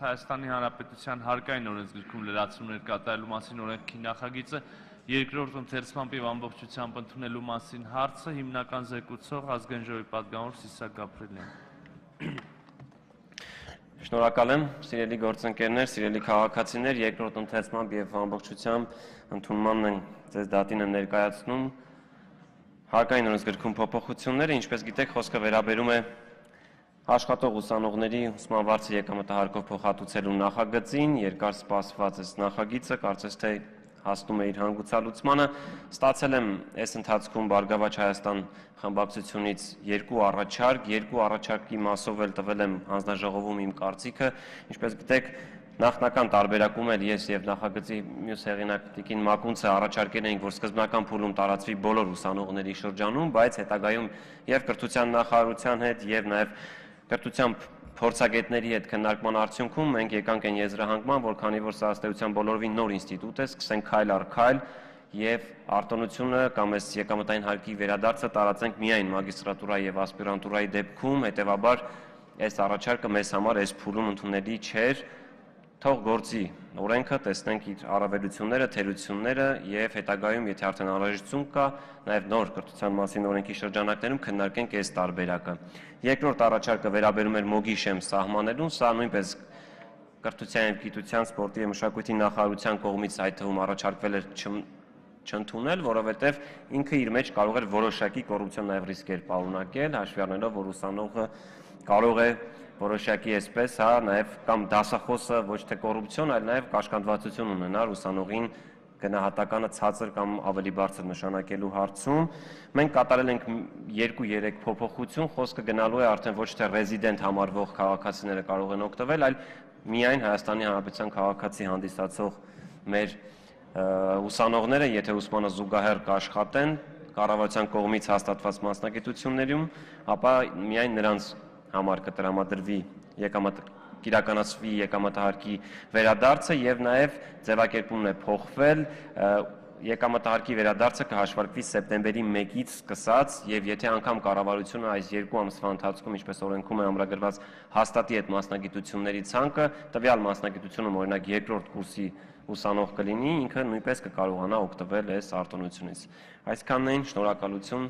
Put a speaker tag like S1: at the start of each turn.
S1: Հայաստանի Հանրապետության հարկային օրենսգրքում լրացումներ կատարելու մասին օրենքի նախագիծը երկրորդ ընթերցմամբ եւ ամբողջությամբ ընդունելու մասին հարցը հիմնական զեկուցող ազգային ժողովի պատգամավոր Սիսակ Գաբրելյան։
S2: Շնորհակալ եմ, սիրելի գործընկերներ, սիրելի քաղաքացիներ, երկրորդ ընթերցմամբ եւ ամբողջությամբ ընդունմանն են ձեզ դատին եմ ներկայացնում հարկային օրենսգրքում փոփոխությունները, ինչպես գիտեք, խոսքը վերաբերում է աշխատող ուսանողների ուսման վարձը եկամտահարկով փոխհատուցելու նախագծին, երկար սպասված այս նախագիծը, կարծես թե հասնում է իր հանգուցալուծմանը, ստացել եմ այս ընթացքում Բարգավաճ Հայաստան խմբակցությունից երկու առաջարկի մասով էլ տվել եմ հանձնաժողովում իմ կարծիքը, ինչպես գիտեք, նախնական տարբերակում էլ ես եւ նախագծի մյուս հեղինակ Տիկին Մակունցը առաջարկել էինք, որ սկզբնական փուլում տարածվի բոլոր ուսանողների շրջանում, բայց հետագայում եւ կրթության նախարարության հետ եւ նաեւ կրթության փորձագետների հետ քննարկման արդյունքում մենք եկանք այն եզրահանգման, որ քանի որ սա ըստ էության բոլորովին նոր ինստիտուտ է, սկսենք քայլ առ քայլ եւ արտոնությունը կամ այս եկամտային հարկի վերադարձը տարածենք միայն մագիստրատուրայի եւ ասպիրանտուրայի դեպքում, հետեւաբար այս առաջարկը մեզ համար այս փուլում ընդունելի չէր, թող գործի օրենքը, տեսնենք իր առավելությունները, թերությունները եւ հետագայում, եթե արդեն անհրաժեշտություն կա, նաեւ նոր կրթության մասին օրենքի շրջանակներում քննարկենք այս տարբերակը։ Երկրորդ առաջարկը վերաբերում էր Մոգիշեմ սահմանելուն, սա նույնպես կրթության եւ գիտության, սպորտի եւ մշակույթի նախարարության կողմից այդ թվում առաջարկվել էր չընդունել, որովհետեւ ինքը իր մեջ կարող էր որոշակի կոռուպցիոն նաեւ ռիսկեր պարունակել, հաշվի առնելով, որ ուսանողը կարող է որոշակի այսպես, հա, նաև կամ դասախոսը ոչ թե կոռուպցիոն, այլ նաև կաշկանդվածություն ունենար ուսանողին գնահատականը ցածր կամ ավելի բարձր նշանակելու հարցում։ Մենք կատարել ենք 2-3 փոփոխություն, խոսքը գնալու է արդեն ոչ թե ռեզիդենտ համարվող քաղաքացիները կարող են օգտվել, այլ միայն Հայաստանի Հանրապետության քաղաքացի հանդիսացող մեր ուսանողները, եթե ուսմանը զուգահեռ կաշխատեն կառավարության կողմից հաստատված մասնագիտություններում, ապա միայն նրանց համար կտրամադրվի կիրականացվի եկամտահարկի վերադարձը եւ նաեւ ձևակերպումն է փոխվել եկամտահարկի վերադարձը կհաշվարկվի սեպտեմբերի 1-ից սկսած եւ եթե անգամ կառավարությունը այս 2 ամսվա ընթացքում ինչպես օրենքում է ամրագրված հաստատի այդ մասնագիտությունների ցանկը տվյալ մասնագիտությունում օրինակ երկրորդ կուրսի ուսանող կլինի ինքը նույնպես կկարողանա օգտվել այս արտոնությունից այսքանն էին շնորհակալություն